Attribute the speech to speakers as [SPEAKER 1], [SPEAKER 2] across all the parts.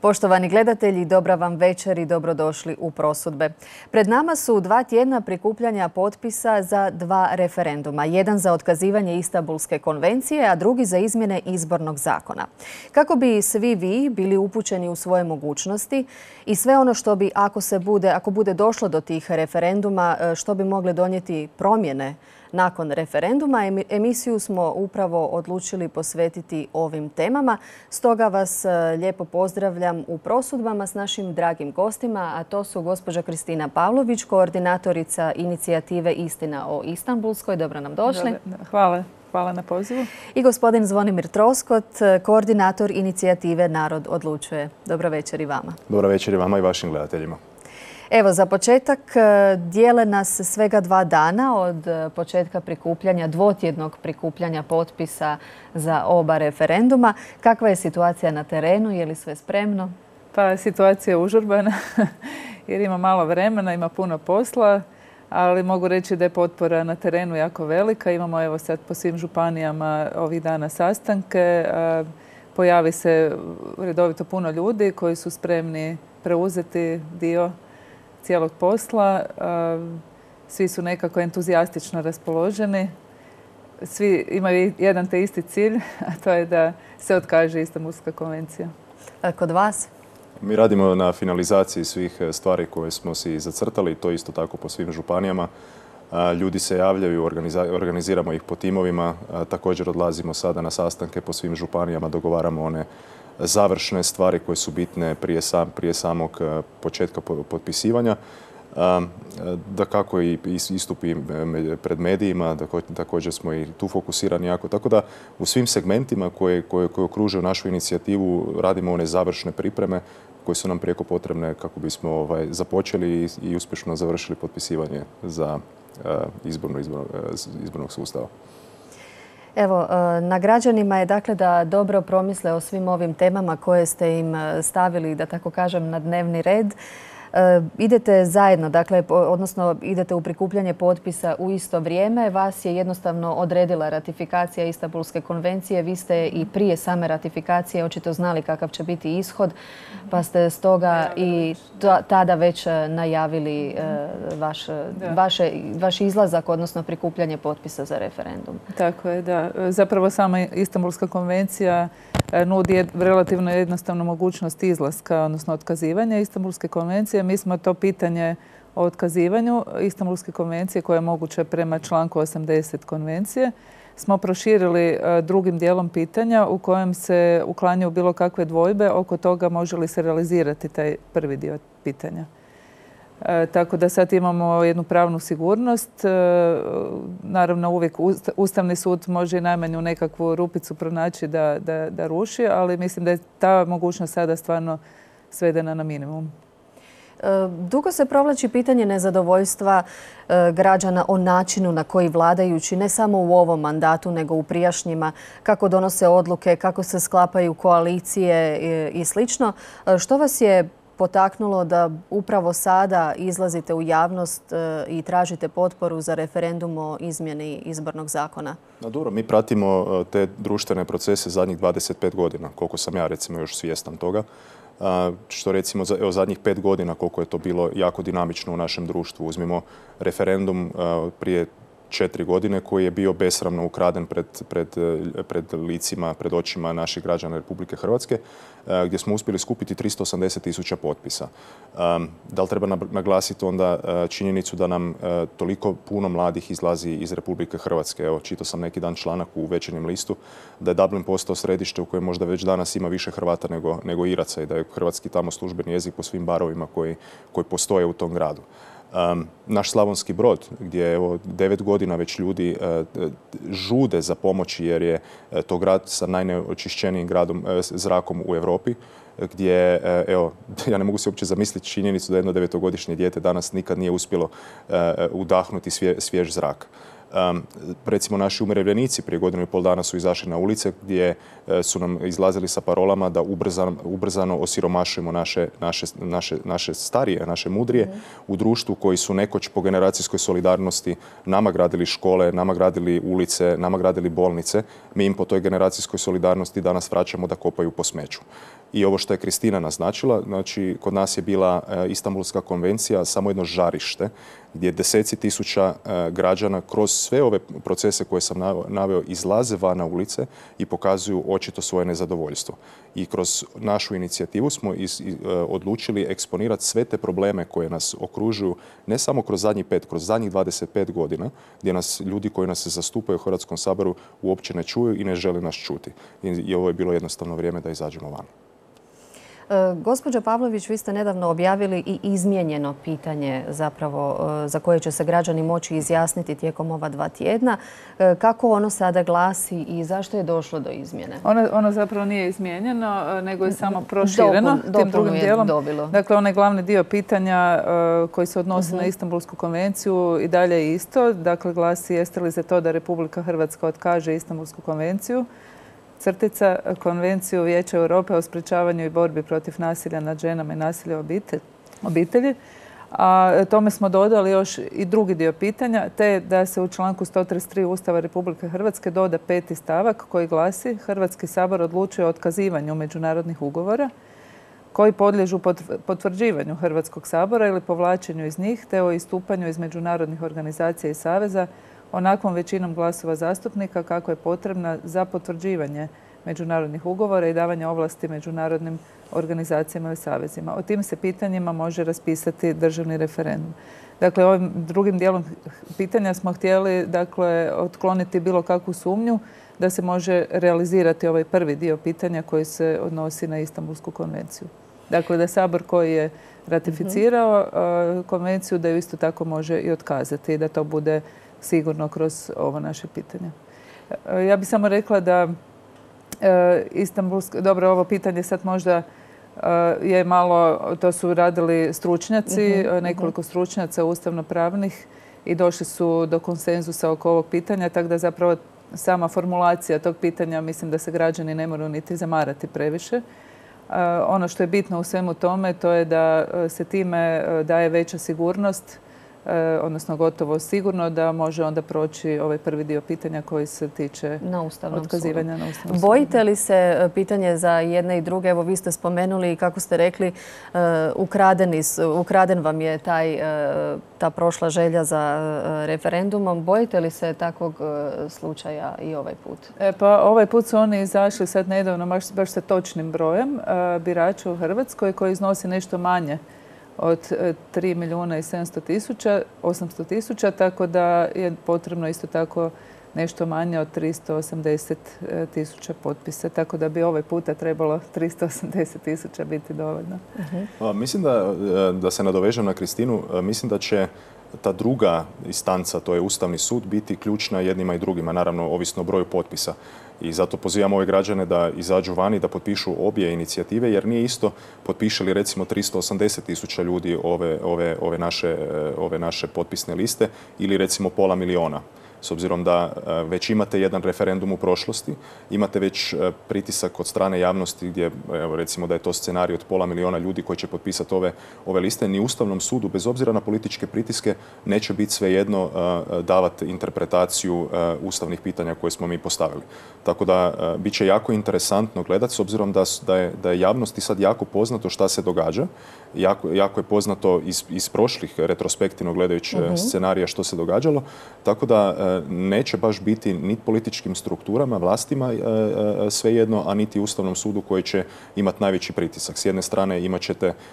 [SPEAKER 1] Poštovani gledatelji, dobra vam večer i dobrodošli u Prosudbe. Pred nama su 2 tjedna prikupljanja potpisa za 2 referenduma. Jedan za otkazivanje Istanbulske konvencije, a drugi za izmjene izbornog zakona. Kako bi svi vi bili upućeni u svoje mogućnosti i sve ono što bi, ako bude došlo do tih referenduma, što bi mogle donijeti promjene nakon referenduma, emisiju smo upravo odlučili posvetiti ovim temama. Stoga vas lijepo pozdravljam u Prosudbama s našim dragim gostima, a to su gospođa Kristina Pavlović, koordinatorica inicijative Istina o Istanbulskoj. Dobro nam došli.
[SPEAKER 2] Hvala na pozivu.
[SPEAKER 1] I gospodin Zvonimir Troskot, koordinator inicijative Narod odlučuje. Dobro večer i vama.
[SPEAKER 3] Dobro večer i vama i vašim gledateljima.
[SPEAKER 1] Evo, za početak dijele nas svega 2 dana od početka prikupljanja, 2-tjednog prikupljanja potpisa za oba referenduma. Kakva je situacija na terenu? Je li sve spremno?
[SPEAKER 2] Pa situacija je užurbana jer ima malo vremena, ima puno posla, ali mogu reći da je potpora na terenu jako velika. Imamo evo sad po svim županijama ovih dana sastanke. Pojavi se redovito puno ljudi koji su spremni preuzeti dio cijelog posla. Svi su nekako entuzijastično raspoloženi. Svi imaju jedan te isti cilj, a to je da se otkaže Istanbulska konvencija.
[SPEAKER 1] Kod vas?
[SPEAKER 3] Mi radimo na finalizaciji svih stvari koje smo si zacrtali, to isto tako po svim županijama. Ljudi se javljaju, organiziramo ih po timovima. Također odlazimo sada na sastanke po svim županijama, dogovaramo one završne stvari koje su bitne prije samog početka potpisivanja. Dakako i istupi pred medijima, također smo i tu fokusirani jako. Tako da u svim segmentima koje okružuju našu inicijativu radimo one završne pripreme koje su nam prijeko potrebne kako bismo započeli i uspješno završili potpisivanje za izbornog sustava.
[SPEAKER 1] Evo, na građanima je dakle da dobro promisle o svim ovim temama koje ste im stavili, da tako kažem, na dnevni red. Idete zajedno, dakle, odnosno idete u prikupljanje potpisa u isto vrijeme. Vas je jednostavno odredila ratifikacija Istanbulske konvencije. Vi ste i prije same ratifikacije očito znali kakav će biti ishod, pa ste stoga i tada već najavili vaš izlazak, odnosno prikupljanje potpisa za referendum.
[SPEAKER 2] Tako je, da. Zapravo sama Istanbulska konvencija nudi relativno jednostavnu mogućnost izlaska, odnosno otkazivanja Istanbulske konvencije. Mi smo to pitanje o otkazivanju Istanbulske konvencije, koje je moguće prema članku 80 konvencije, smo proširili drugim dijelom pitanja u kojem se uklanjaju bilo kakve dvojbe oko toga može li se realizirati taj prvi dio pitanja. Tako da sad imamo jednu pravnu sigurnost. Naravno, uvijek Ustavni sud može i najmanju nekakvu rupicu pronaći da ruši, ali mislim da je ta mogućnost sada stvarno svedena na minimum.
[SPEAKER 1] Dugo se provlači pitanje nezadovoljstva građana o načinu na koji vladajući, ne samo u ovom mandatu, nego u prijašnjima, kako donose odluke, kako se sklapaju koalicije i sl. Što vas je potaknulo da upravo sada izlazite u javnost i tražite potporu za referendum o izmjeni izbornog zakona?
[SPEAKER 3] Dobro, mi pratimo te društvene procese zadnjih 25 godina, koliko sam ja recimo još svjestan toga. Što recimo zadnjih 5 godina koliko je to bilo jako dinamično u našem društvu. Uzmimo referendum prije 4 godine koji je bio besramno ukraden pred licima, pred očima naših građana Republike Hrvatske, gdje smo uspjeli skupiti 380.000 potpisa. Da li treba naglasiti onda činjenicu da nam toliko puno mladih izlazi iz Republike Hrvatske? Evo, čitao sam neki dan članak u Večernjem listu da je Dublin postao središte u kojem možda već danas ima više Hrvata nego Iraca i da je hrvatski tamo službeni jezik po svim barovima koji postoje u tom gradu. Naš Slavonski Brod, gdje 9 godina već ljudi žude za pomoći jer je to grad sa najneočišćenijim zrakom u Europi, gdje, evo, ja ne mogu se uopće zamisliti činjenicu da jedno 9-godišnje dijete danas nikad nije uspjelo udahnuti svjež zrak. Recimo, naši umirovljenici prije 1,5 godina su izašli na ulice gdje su nam izlazili sa parolama da ubrzano osiromašujemo naše starije, naše mudrije u društvu koji su nekoć po generacijskoj solidarnosti nama gradili škole, nama gradili ulice, nama gradili bolnice. Mi im po toj generacijskoj solidarnosti danas vraćamo da kopaju po smeću. I ovo što je Kristina naznačila, znači kod nas je bila Istanbulska konvencija samo jedno žarište gdje deseci tisuća građana kroz sve ove procese koje sam naveo izlaze van na ulice i pokazuju očito svoje nezadovoljstvo. I kroz našu inicijativu smo odlučili eksponirati sve te probleme koje nas okružuju ne samo kroz kroz zadnjih 25 godina gdje nas ljudi koji nas zastupaju u Hrvatskom saboru uopće ne čuju i ne žele nas čuti. I ovo je bilo jednostavno vrijeme da izađemo van.
[SPEAKER 1] Gospođo Pavlović, vi ste nedavno objavili i izmijenjeno pitanje zapravo za koje će se građani moći izjasniti tijekom ova 2 tjedna. Kako ono sada glasi i zašto je došlo do izmjene?
[SPEAKER 2] Ono zapravo nije izmijenjeno, nego je samo prošireno tim drugim dijelom. Dakle, onaj glavni dio pitanja koji se odnosi na Istanbulsku konvenciju i dalje je isto. Dakle, glasi jeste li za to da Republika Hrvatska otkaže Istanbulsku konvenciju, Konvenciju Vijeća Europe o sprječavanju i borbi protiv nasilja nad ženama i nasilja u obitelji. A tome smo dodali još i drugi dio pitanja, te da se u članku 133 Ustava Republike Hrvatske doda 5. stavak koji glasi: Hrvatski sabor odlučuje o otkazivanju međunarodnih ugovora koji podliježu potvrđivanju Hrvatskog sabora ili povlačenju iz njih, te o istupanju iz međunarodnih organizacija i saveza onakvom većinom glasova zastupnika kako je potrebna za potvrđivanje međunarodnih ugovora i davanje ovlasti međunarodnim organizacijama ili savezima. O tim se pitanjima može raspisati državni referendum. Dakle, ovim drugim dijelom pitanja smo htjeli otkloniti bilo kakvu sumnju da se može realizirati ovaj prvi dio pitanja koji se odnosi na Istanbulsku konvenciju. Dakle, da Sabor koji je ratificirao konvenciju da ju isto tako može i otkazati i da to bude sigurno kroz ovo naše pitanje. Ja bih samo rekla da dobro, ovo pitanje sad možda je malo, to su radili stručnjaci, nekoliko stručnjaca ustavno-pravnih i došli su do konsenzusa oko ovog pitanja, tako da zapravo sama formulacija tog pitanja mislim da se građani ne moraju niti zamarati previše. Ono što je bitno u svemu tome to je da se time daje veća sigurnost, odnosno gotovo sigurno da može onda proći ovaj prvi dio pitanja koji se tiče otkazivanja na Ustavnom sudu.
[SPEAKER 1] Bojite li se, pitanje za jedne i druge, evo vi ste spomenuli i kako ste rekli, ukraden vam je ta prošla želja za referendumom. Bojite li se takvog slučaja i ovaj put?
[SPEAKER 2] Pa ovaj put su oni izašli sad nedavno baš sa točnim brojem birača u Hrvatskoj koji iznosi nešto manje od 3 milijuna i 800 tisuća, tako da je potrebno isto tako nešto manje od 380 tisuća potpisa. Tako da bi ovaj puta trebalo 380 tisuća biti dovoljno.
[SPEAKER 3] Mislim da se nadovežem na Kristinu. Mislim da će ta druga instanca, to je Ustavni sud, biti ključna jednima i drugima, naravno ovisno o broju potpisa. I zato pozivam ove građane da izađu vani, da potpišu obje inicijative, jer nije isto potpiše li recimo 380 tisuća ljudi ove naše potpisne liste ili recimo 500 000. S obzirom da već imate jedan referendum u prošlosti, imate već pritisak od strane javnosti gdje, evo, recimo da je to scenarij od 500 000 ljudi koji će potpisati ove liste, ni Ustavnom sudu, bez obzira na političke pritiske, neće biti svejedno davati interpretaciju ustavnih pitanja koje smo mi postavili. Tako da bit će jako interesantno gledati, s obzirom da je javnosti sad jako poznato šta se događa. Jako je poznato iz prošlih retrospektivno gledajući scenarija što se događalo, tako da neće baš biti ni političkim strukturama, vlastima svejedno, a niti Ustavnom sudu koji će imati najveći pritisak. S jedne strane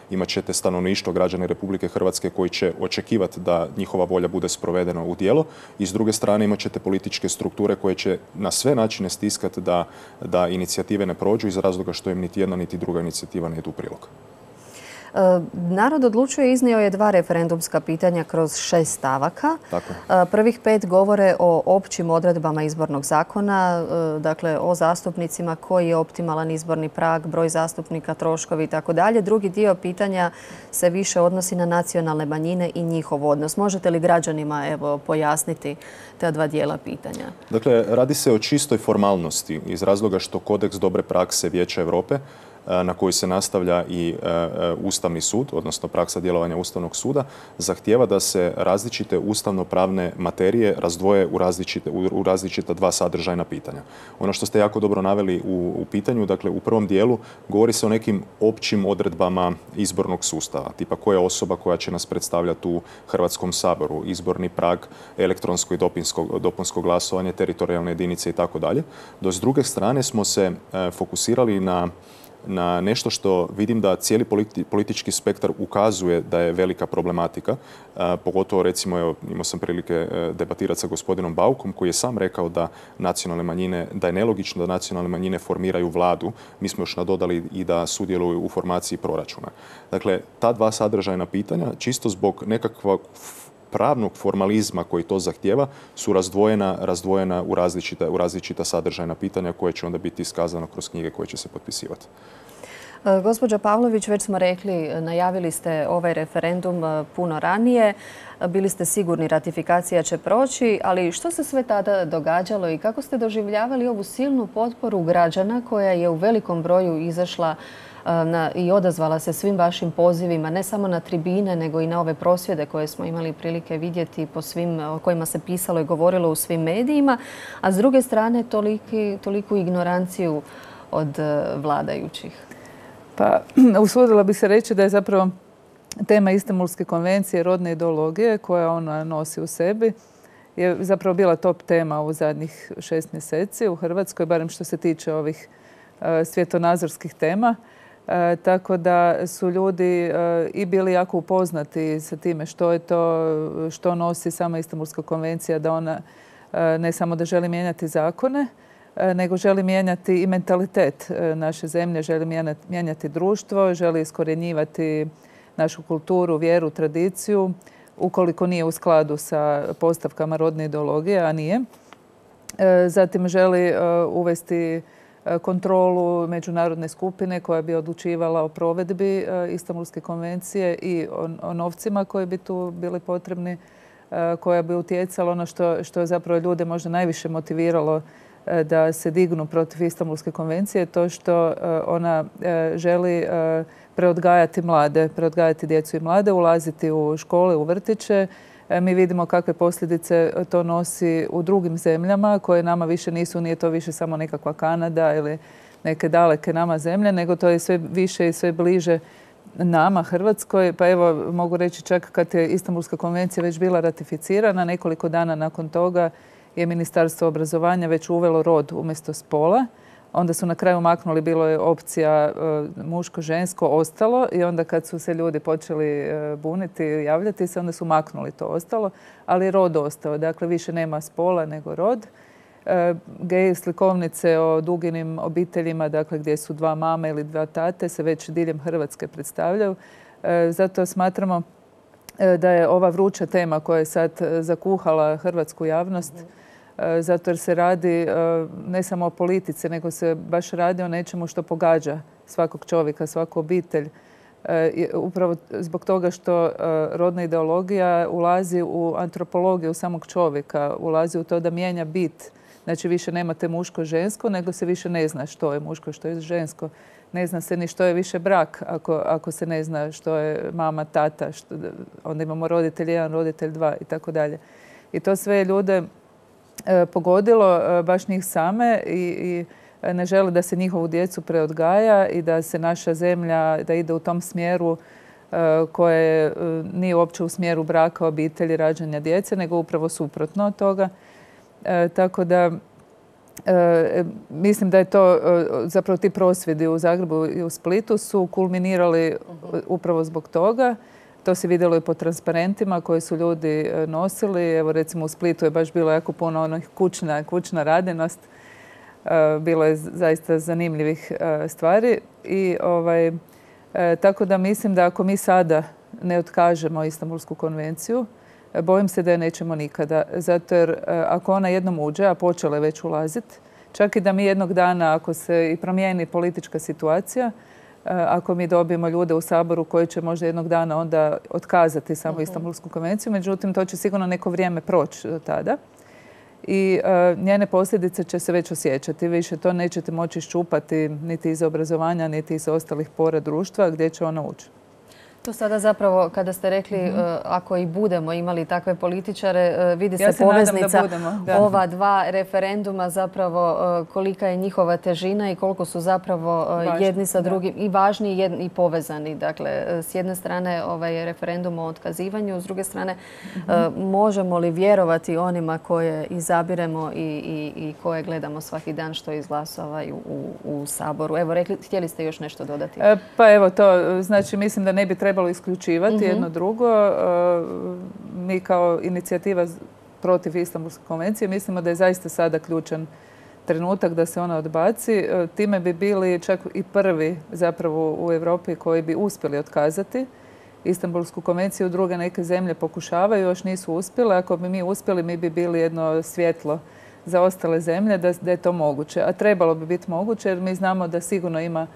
[SPEAKER 3] imat ćete stanovništvo, građane Republike Hrvatske koji će očekivati da njihova volja bude sprovedena u djelo, i s druge strane imat ćete političke strukture koje će na sve načine stiskati da inicijative ne prođu iz razloga što im niti jedna niti druga inicijativa ne ide u prilog.
[SPEAKER 1] Narod odlučuje iznio je 2 referendumska pitanja kroz 6 stavaka. Prvih 5 govore o općim odredbama izbornog zakona, dakle o zastupnicima, koji je optimalan izborni prag, broj zastupnika, troškovi i tako dalje. Drugi dio pitanja se više odnosi na nacionalne manjine i njihov odnos. Možete li građanima pojasniti ta 2 dijela pitanja?
[SPEAKER 3] Dakle, radi se o čistoj formalnosti iz razloga što kodeks dobre prakse Vijeća Europe na koju se nastavlja i Ustavni sud, odnosno praksa djelovanja Ustavnog suda, zahtijeva da se različite ustavno-pravne materije razdvoje u različita dva sadržajna pitanja. Ono što ste jako dobro naveli u pitanju, dakle u prvom dijelu govori se o nekim općim odredbama izbornog sustava, tipa koja je osoba koja će nas predstavljati u Hrvatskom saboru, izborni prag, elektronsko i dopunsko glasovanje, teritorijalne jedinice i tako dalje. Do s druge strane smo se fokusirali na nešto što vidim da cijeli politički spektar ukazuje da je velika problematika. Pogotovo recimo, evo, imao sam prilike debatirati sa gospodinom Baukom koji je sam rekao da da je nelogično da nacionalne manjine formiraju vladu. Mi smo još nadodali i da sudjeluju u formaciji proračuna. Dakle, ta dva sadržajna pitanja, čisto zbog nekakvog pravnog formalizma koji to zahtijeva, su razdvojena u različita sadržajna pitanja koje će onda biti iskazano kroz knjige koje će se potpisivati.
[SPEAKER 1] Gospođa Pavlović, već smo rekli, najavili ste ovaj referendum puno ranije. Bili ste sigurni ratifikacija će proći, ali što se sve tada događalo i kako ste doživljavali ovu silnu potporu građana koja je u velikom broju izašla i odazvala se svim vašim pozivima, ne samo na tribine, nego i na ove prosvjede koje smo imali prilike vidjeti o kojima se pisalo i govorilo u svim medijima, a s druge strane toliku ignoranciju od vladajućih?
[SPEAKER 2] Pa, usudila bi se reći da je zapravo tema Istanbulske konvencije rodne ideologije koja ona nosi u sebi je zapravo bila top tema u zadnjih 6 mjeseci u Hrvatskoj, barem što se tiče ovih svjetonazorskih tema. Tako da su ljudi i bili jako upoznati sa time što je to, što nosi sama Istanbulska konvencija, da ona ne samo da želi mijenjati zakone, nego želi mijenjati i mentalitet naše zemlje, želi mijenjati društvo, želi iskorjenjivati našu kulturu, vjeru, tradiciju, ukoliko nije u skladu sa postavkama rodne ideologije, a nije. Zatim želi uvesti kontrolu međunarodne skupine koja bi odlučivala o provedbi Istanbulske konvencije i o novcima koji bi tu bili potrebni, koja bi utjecala ono što je zapravo ljude možda najviše motiviralo da se dignu protiv Istanbulske konvencije, to što ona želi preodgajati mlade, preodgajati djecu i mlade, ulaziti u škole, u vrtiće. Mi vidimo kakve posljedice to nosi u drugim zemljama koje nama više nisu, nije to više samo nekakva Kanada ili neke daleke nama zemlje, nego to je sve više i sve bliže nama, Hrvatskoj. Pa evo, mogu reći čak kad je Istanbulska konvencija već bila ratificirana, nekoliko dana nakon toga je Ministarstvo obrazovanja već uvelo rod umjesto spola. Onda su na kraju maknuli, bilo je opcija muško-žensko, ostalo i onda kad su se ljudi počeli buniti i javljati se, onda su maknuli to ostalo, ali rod ostao. Dakle, više nema spola nego rod. Gej slikovnice o duginim obiteljima, dakle gdje su 2 mame ili 2 tate, se već diljem Hrvatske predstavljaju. Zato smatramo da je ova vruća tema koja je sad zakuhala hrvatsku javnost, zato jer se radi ne samo o politici, nego se baš radi o nečemu što pogađa svakog čovjeka, svaku obitelj. Upravo zbog toga što rodna ideologija ulazi u antropologiju samog čovjeka, ulazi u to da mijenja bit. Znači više nemate muško-žensko, nego se više ne zna što je muško, što je žensko. Ne zna se ni što je više brak ako se ne zna što je mama, tata. Onda imamo roditelj 1, roditelj 2 i tako dalje. I to sve ljude pogodilo, baš njih same i ne žele da se njihovu djecu preodgaja i da se naša zemlja, da ide u tom smjeru koje nije uopće u smjeru braka, obitelji, rađanja djece, nego upravo suprotno od toga. Tako da mislim da je to, zapravo ti prosvjedi u Zagrebu i u Splitu su kulminirali upravo zbog toga. To se vidjelo i po transparentima koje su ljudi nosili. Evo recimo u Splitu je baš bilo jako puno onih kućna radinost. Bilo je zaista zanimljivih stvari. I tako da mislim da ako mi sada ne otkažemo Istanbulsku konvenciju, bojim se da je nećemo nikada. Zato jer ako ona jednom uđe, a počela je već ulaziti, čak i da mi jednog dana, ako se i promijeni politička situacija, ako mi dobijemo ljude u Saboru koji će možda jednog dana onda otkazati samo Istanbulsku konvenciju, međutim to će sigurno neko vrijeme proći do tada. i njene posljedice će se već osjećati. Više to nećete moći iščupati niti iz obrazovanja, niti iz ostalih pora društva gdje će ona ući.
[SPEAKER 1] To sada zapravo, kada ste rekli ako i budemo imali takve političare, vidi se poveznica ova dva referenduma, zapravo kolika je njihova težina i koliko su zapravo jedni sa drugim i važni i povezani. Dakle, s jedne strane ovaj referendum o otkazivanju, s druge strane možemo li vjerovati onima koje izabiremo i koje gledamo svaki dan što izglasavaju u Saboru. Evo, htjeli ste još nešto dodati?
[SPEAKER 2] Pa evo to, znači mislim da ne bi trebalo isključivati jedno drugo. Mi kao inicijativa protiv Istanbulske konvencije mislimo da je zaista sada ključan trenutak da se ona odbaci. Time bi bili čak i prvi zapravo u Europi koji bi uspjeli otkazati Istanbulsku konvenciju. Druge neke zemlje pokušavaju, još nisu uspjele. Ako bi mi uspjeli, mi bi bili jedno svjetlo za ostale zemlje da je to moguće. A trebalo bi biti moguće jer mi znamo da sigurno ima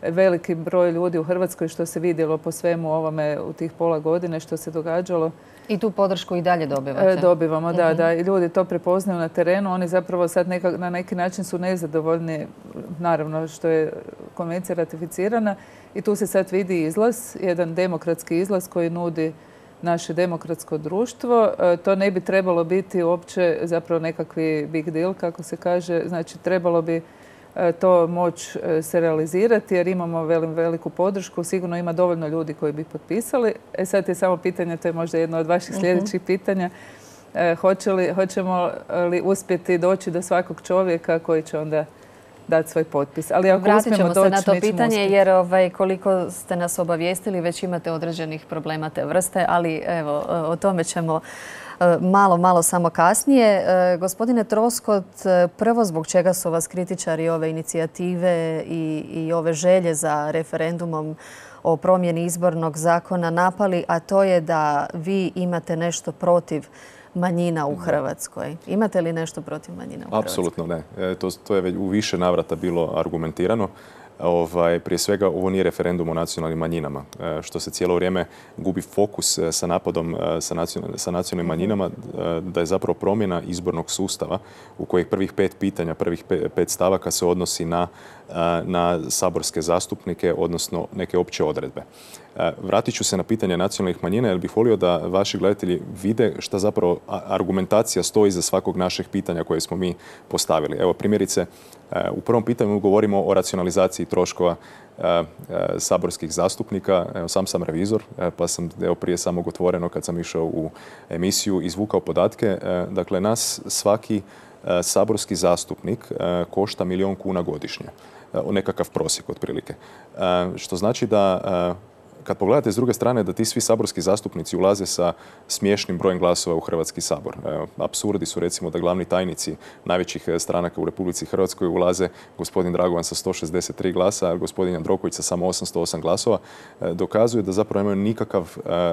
[SPEAKER 2] veliki broj ljudi u Hrvatskoj, što se vidjelo po svemu ovome u tih pola godine što se događalo.
[SPEAKER 1] I tu podršku i dalje dobivate?
[SPEAKER 2] Dobivamo, da. I ljudi to prepoznaju na terenu. Oni zapravo sad na neki način su nezadovoljni, naravno što je konvencija ratificirana. I tu se sad vidi izlaz, jedan demokratski izlaz koji nudi naše demokratsko društvo. To ne bi trebalo biti uopće zapravo nekakvi big deal, kako se kaže. Znači, trebalo bi to moći se realizirati jer imamo veliku podršku. Sigurno ima dovoljno ljudi koji bi potpisali. Sad je samo pitanje, to je možda jedno od vaših sljedećih pitanja, hoćemo li uspjeti doći do svakog čovjeka koji će onda dati svoj potpis. Ali ako
[SPEAKER 1] vratit ćemo
[SPEAKER 2] uspijemo
[SPEAKER 1] se na to pitanje jer koliko ste nas obavijestili već imate određenih problema te vrste, ali evo o tome ćemo malo samo kasnije. Gospodine Troskot, prvo zbog čega su vas kritičari ove inicijative i ove želje za referendumom o promjeni izbornog zakona napali, a to je da vi imate nešto protiv manjina u Hrvatskoj. Imate li nešto protiv manjina u Hrvatskoj?
[SPEAKER 3] Apsolutno ne. To je već u više navrata bilo argumentirano. Prije svega, ovo nije referendum o nacionalnim manjinama, što se cijelo vrijeme gubi fokus sa napadom sa nacionalnim manjinama, da je zapravo promjena izbornog sustava u kojih prvih 5 pitanja, prvih 5 stavaka se odnosi na saborske zastupnike, odnosno neke opće odredbe. Vratit ću se na pitanje nacionalnih manjina jer bih volio da vaši gledatelji vide šta zapravo argumentacija stoji iza svakog našeg pitanja koje smo mi postavili. Evo, primjerice, u prvom pitanju govorimo o racionalizaciji troškova saborskih zastupnika. Evo, sam sam revizor, pa sam prije samog otvoreno kad sam išao u emisiju izvukao podatke. Dakle, nas svaki saborski zastupnik košta 1 milijun kuna godišnje. Nekakav prosjek otprilike. Što znači da kad pogledate s druge strane da ti svi saborski zastupnici ulaze sa smiješnim brojem glasova u Hrvatski sabor. Apsurdi su recimo da glavni tajnici najvećih stranaka u Republici Hrvatskoj ulaze gospodin Dragovan sa 163 glasa, a gospodin Jandroković sa samo 808 glasova. Dokazuje da zapravo imaju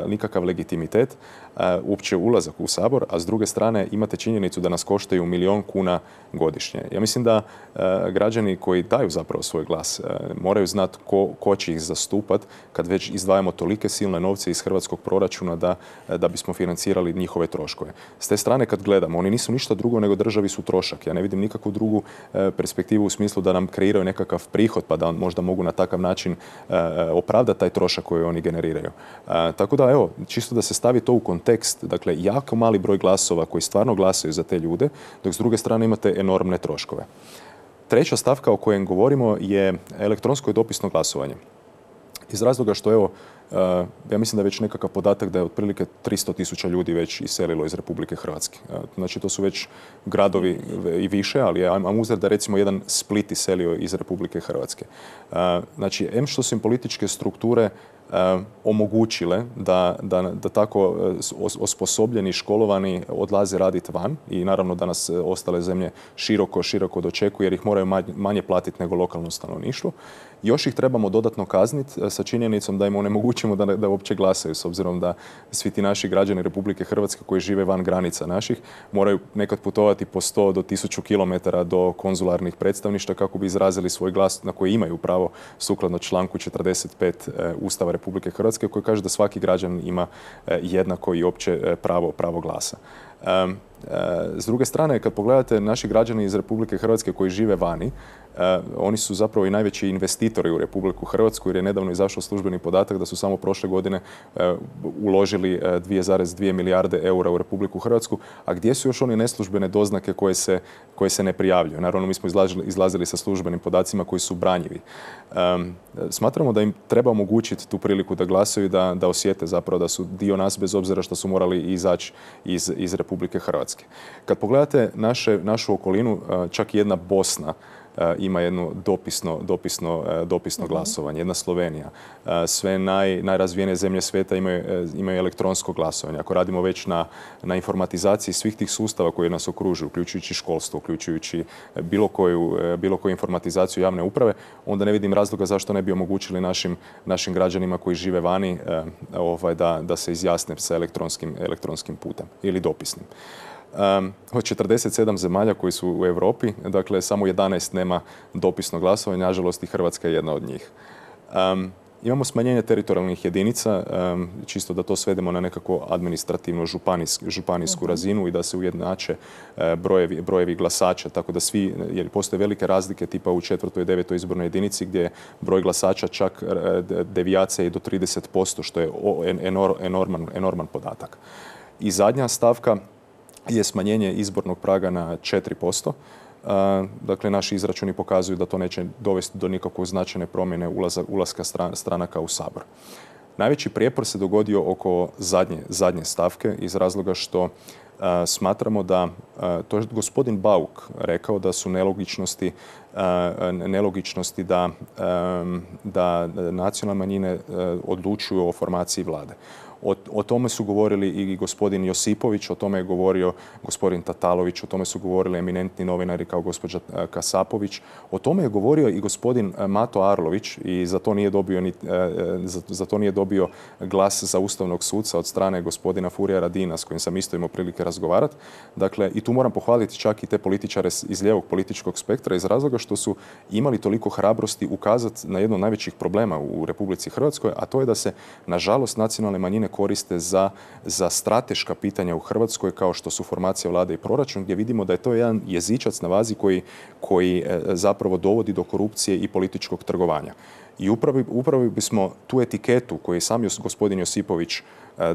[SPEAKER 3] nikakav legitimitet uopće ulazak u sabor, a s druge strane imate činjenicu da nas koštaju 1 milijun kuna godišnje. Ja mislim da građani koji daju zapravo svoj glas moraju znati ko će ih zastupati kad već izdvajamo tolike silne novce iz hrvatskog proračuna da bismo financirali njihove troškove. S te strane kad gledamo, oni nisu ništa drugo nego državi su trošak. Ja ne vidim nikakvu drugu perspektivu u smislu da nam kreiraju nekakav prihod pa da možda mogu na takav način opravdati taj trošak koji oni generiraju. Tako da evo, čisto da se stavi to u kontekst, dakle jako mali broj glasova koji stvarno glasaju za te ljude, dok s druge strane imate enormne troškove. Treća stavka o kojem govorimo je elektronsko i dopisno glasovanje. Iz razloga što, evo, ja mislim da je već nekakav podatak da je otprilike 300.000 ljudi već iselilo iz Republike Hrvatske. Znači, to su već gradovi i više, ali imam uzor da recimo jedan Split iselio iz Republike Hrvatske. Znači, što su im političke strukture omogućile da tako osposobljeni, školovani odlaze raditi van i naravno da nas ostale zemlje široko dočekuju jer ih moraju manje platiti nego lokalno stanovništvo. Još ih trebamo dodatno kazniti sa činjenicom da im onemogućimo da uopće glasaju, s obzirom da svi ti naši građani Republike Hrvatske koji žive van granica naših moraju nekad putovati po 100 do 1000 km do konzularnih predstavništva kako bi izrazili svoj glas na koji imaju pravo sukladno članku 45 Ustava Republike Hrvatske koji kaže da svaki građanin ima jednako i opće pravo glasa. S druge strane, kad pogledate naši građani iz Republike Hrvatske koji žive vani, oni su zapravo i najveći investitori u Republiku Hrvatsku jer je nedavno izašao službeni podatak da su samo prošle godine uložili 2,2 milijarde eura u Republiku Hrvatsku, a gdje su još one neslužbene doznake koje se ne prijavljuju? Naravno, mi smo izlazili sa službenim podacima koji su branjivi. Smatramo da im treba omogućiti tu priliku da glasaju, da osjete zapravo da su dio nas bez obzira što su morali izaći iz Republike Hrvatske. Kad pogledate našu okolinu, čak i jedna Bosna ima jedno dopisno glasovanje, jedna Slovenija. Sve najrazvijenije zemlje svijeta imaju elektronsko glasovanje. Ako radimo već na informatizaciji svih tih sustava koji nas okružuju, uključujući školstvo, uključujući bilo koju informatizaciju javne uprave, onda ne vidim razloga zašto ne bi omogućili našim građanima koji žive vani da se izjasne sa elektronskim putem ili dopisnim. Od 47 zemalja koji su u Europi, dakle samo 11 nema dopisno glasovanje, nažalost i Hrvatska je jedna od njih. Imamo smanjenje teritorijalnih jedinica, čisto da to svedemo na nekako administrativno županijsku razinu i da se ujednače brojevi glasača, tako da svi, jer postoje velike razlike tipa u 4. i 9. izbornoj jedinici gdje je broj glasača čak devijacija i do 30%, što je enorman podatak. I zadnja stavka je smanjenje izbornog praga na 4%. Dakle, naši izračuni pokazuju da to neće dovesti do nikakve značajne promjene ulaska stranaka u Sabor. Najveći prijepor se dogodio oko zadnje stavke iz razloga što smatramo da, to je gospodin Bauk rekao da su nelogičnosti da nacionalne manjine odlučuju o formaciji vlade. O tome su govorili i gospodin Josipović, o tome je govorio gospodin Tatalović, o tome su govorili eminentni novinari kao gospođa Kasapović, o tome je govorio i gospodin Mato Arlović i za to nije dobio glas za ustavnog suca od strane gospodina Furija Radina s kojim sam isto imao prilike razgovarati. Dakle, i tu moram pohvaliti čak i te političare iz lijevog političkog spektra iz razloga što su imali toliko hrabrosti ukazati na jedno od najvećih problema u Republici Hrvatskoj, a to je da se, nažalost, nacionalne manjine koriste za strateška pitanja u Hrvatskoj kao što su formacija vlade i proračun, gdje vidimo da je to jedan jezičac na vazi koji zapravo dovodi do korupcije i političkog trgovanja. I upravo bismo tu etiketu koju je sam gospodin Josipović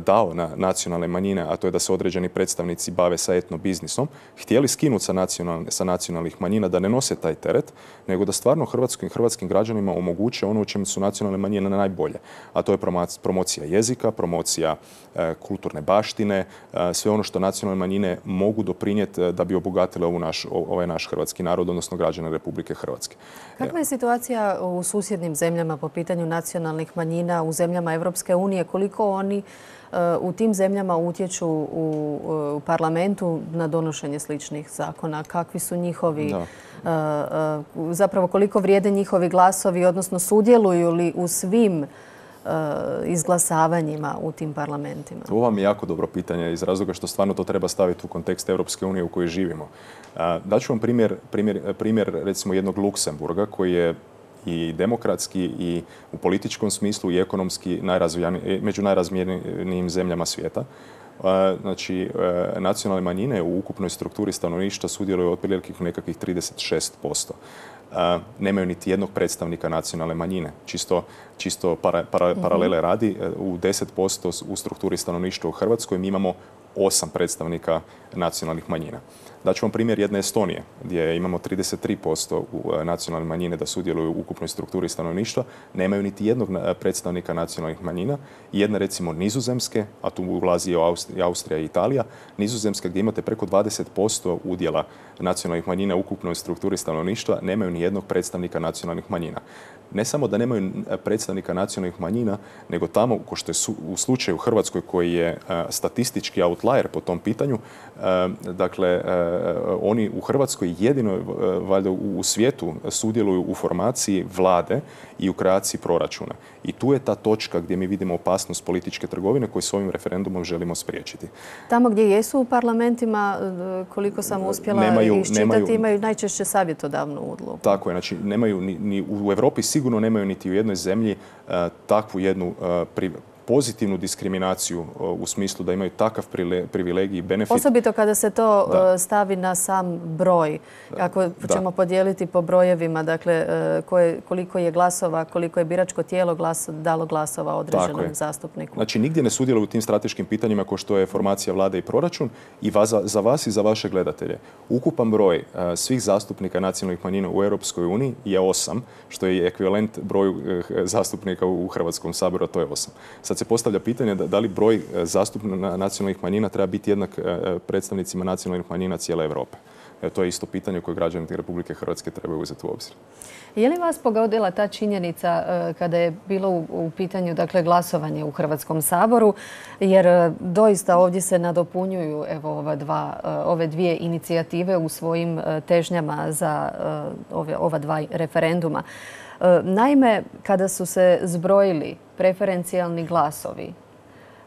[SPEAKER 3] dao na nacionalne manjine, a to je da se određeni predstavnici bave sa etnobiznisom, htjeli skinuti sa nacionalnih manjina da ne nose taj teret, nego da stvarno hrvatskim građanima omoguće ono u čemu su nacionalne manjine najbolje. A to je promocija jezika, promocija kulturne baštine, sve ono što nacionalne manjine mogu doprinijeti da bi obogatile ovaj naš hrvatski narod, odnosno građane Republike Hrvatske.
[SPEAKER 1] Kakva je situacija u susjednim zemljama po pitanju nacionalnih manjina, u zemljama Europske unije? Koliko oni u tim zemljama utječu u parlamentu na donošenje sličnih zakona? Kakvi su njihovi, zapravo koliko vrijede njihovi glasovi, odnosno sudjeluju li u svim izglasavanjima u tim parlamentima?
[SPEAKER 3] Ovo vam je jako dobro pitanje iz razloga što stvarno to treba staviti u kontekst Europske unije u kojoj živimo. Daću vam primjer recimo jednog Luksemburga koji je i demokratski i u političkom smislu i ekonomski među najrazvijenijim zemljama svijeta. Znači, nacionalne manjine u ukupnoj strukturi stanovništva sudjeluju otprilike nekakvih 36%. Nemaju niti jednog predstavnika nacionalne manjine. Čisto paralele radi, u 10% u strukturi stanovništva u Hrvatskoj mi imamo 8 predstavnika nacionalnih manjina. Daću vam primjer jedne Estonije, gdje imamo 33% nacionalne manjine da sudjeluju u ukupnoj strukturi stanovništva, nemaju niti jednog predstavnika nacionalnih manjina. Jedne recimo Nizozemske, a tu ulazi i Austrija i Italija, Nizozemska gdje imate preko 20% udjela nacionalnih manjina u ukupnoj strukturi stanovništva, nemaju ni jednog predstavnika nacionalnih manjina. Ne samo da nemaju predstavnika nacionalnih manjina, nego tamo, ko što je u slučaju u Hrvatskoj koji je statistički outlier po tom pitanju, dakle, oni u Hrvatskoj jedino valjda u svijetu sudjeluju u formaciji vlade i u kreaciji proračuna. I tu je ta točka gdje mi vidimo opasnost političke trgovine koju s ovim referendumom želimo spriječiti.
[SPEAKER 1] Tamo gdje jesu u parlamentima, koliko sam uspjela iščitati, imaju najčešće savjetodavnu ulogu.
[SPEAKER 3] Tako je, znači nemaju ni u Europi sigurno nemaju niti u jednoj zemlji takvu jednu pozitivnu diskriminaciju u smislu da imaju takav privilegij i benefit.
[SPEAKER 1] Osobito kada se to stavi na sam broj. Ako ćemo podijeliti po brojevima, dakle, koliko je glasova, koliko je biračko tijelo dalo glasova određenom zastupniku.
[SPEAKER 3] Znači, nigdje ne sudjeluju u tim strateškim pitanjima kao što je formacija vlade i proračun. I za vas i za vaše gledatelje. Ukupan broj svih zastupnika nacionalnih manjina u Europskoj uniji je 8, što je ekvivalent broju zastupnika u Hrvatskom saboru, a to je 8. Sad se postavlja pitanje da li broj zastupnika nacionalnih manjina treba biti jednak predstavnicima nacionalnih manjina cijele Europe. To je isto pitanje koje građani Republike Hrvatske trebaju uzeti u obzir.
[SPEAKER 1] Je li vas pogodila ta činjenica kada je bilo u pitanju glasovanje u Hrvatskom saboru? Jer doista ovdje se nadopunjuju ove dvije inicijative u svojim težnjama za ova dva referenduma. Naime, kada su se zbrojili preferencijalni glasovi,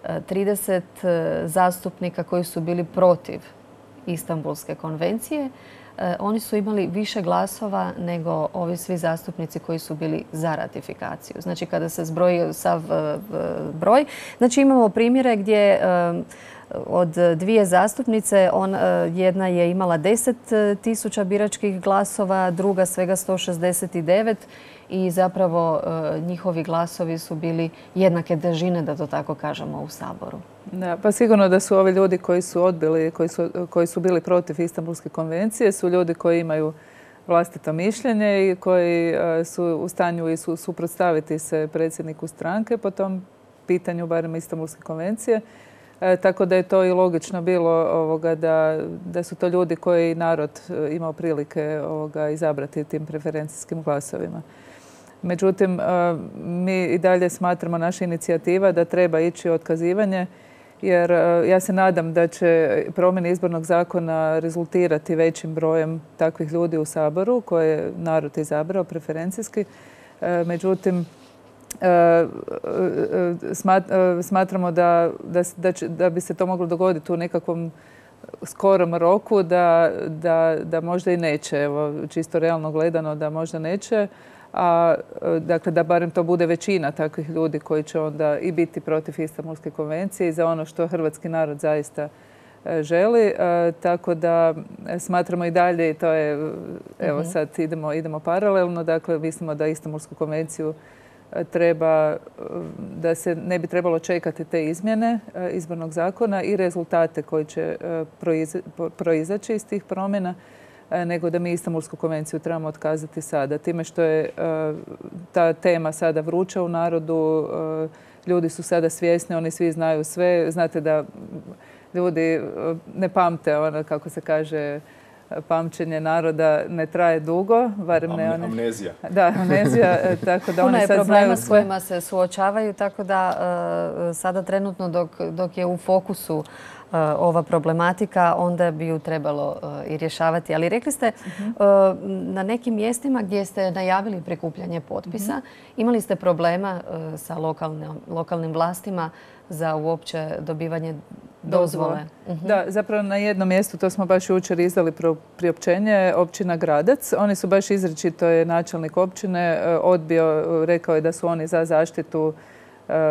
[SPEAKER 1] 30 zastupnika koji su bili protiv Istanbulske konvencije, oni su imali više glasova nego ovi svi zastupnici koji su bili za ratifikaciju. Znači, kada se zbroji sav broj, znači imamo primjere gdje od dvije zastupnice, jedna je imala 10.000 biračkih glasova, druga svega 169 i zapravo njihovi glasovi su bili jednake težine, da to tako kažemo, u Saboru.
[SPEAKER 2] Da, pa sigurno da su ovi ljudi koji su odbili, koji su bili protiv Istanbulske konvencije, su ljudi koji imaju vlastito mišljenje i koji su u stanju i suprotstaviti se predsjedniku stranke po tom pitanju, barem Istanbulske konvencije. Tako da je to i logično bilo da su to ljudi koji narod imao prilike izabrati tim preferencijskim glasovima. Međutim, mi i dalje smatramo naša inicijativa da treba ići otkazivanje, jer ja se nadam da će promjene izbornog zakona rezultirati većim brojem takvih ljudi u Saboru koje je narod izabrao preferencijski. Međutim, smatramo da bi se to moglo dogoditi u nekakvom skorom roku, da možda i neće. Evo, čisto realno gledano da možda neće. Dakle, da barem to bude većina takvih ljudi koji će onda i biti protiv Istanbulske konvencije i za ono što hrvatski narod zaista želi. Tako da smatramo i dalje, i to je, evo sad idemo paralelno, dakle mislimo da Istanbulsku konvenciju treba, da se ne bi trebalo čekati te izmjene izbornog zakona i rezultate koji će proizaći iz tih promjena, nego da mi Istanbulsku konvenciju trebamo otkazati sada. Time što je ta tema sada vruća u narodu, ljudi su sada svjesni, oni svi znaju sve. Znate da ljudi ne pamte, kako se kaže, pamćenje naroda ne traje dugo, barem ne one.
[SPEAKER 3] Amnezija.
[SPEAKER 2] Da, amnezija, tako da oni sad znaju sve.
[SPEAKER 1] Puno je problema s kojima se suočavaju, tako da sada trenutno dok je u fokusu ova problematika, onda bi ju trebalo i rješavati. Ali rekli ste na nekim mjestima gdje ste najavili prikupljanje potpisa, imali ste problema sa lokalnim vlastima za uopće dobivanje dozvole.
[SPEAKER 2] Da, zapravo na jednom mjestu, to smo baš jučer izdali priopćenje, općina Gradac. Oni su baš izričito, je načelnik općine odbio, rekao je da su oni za zaštitu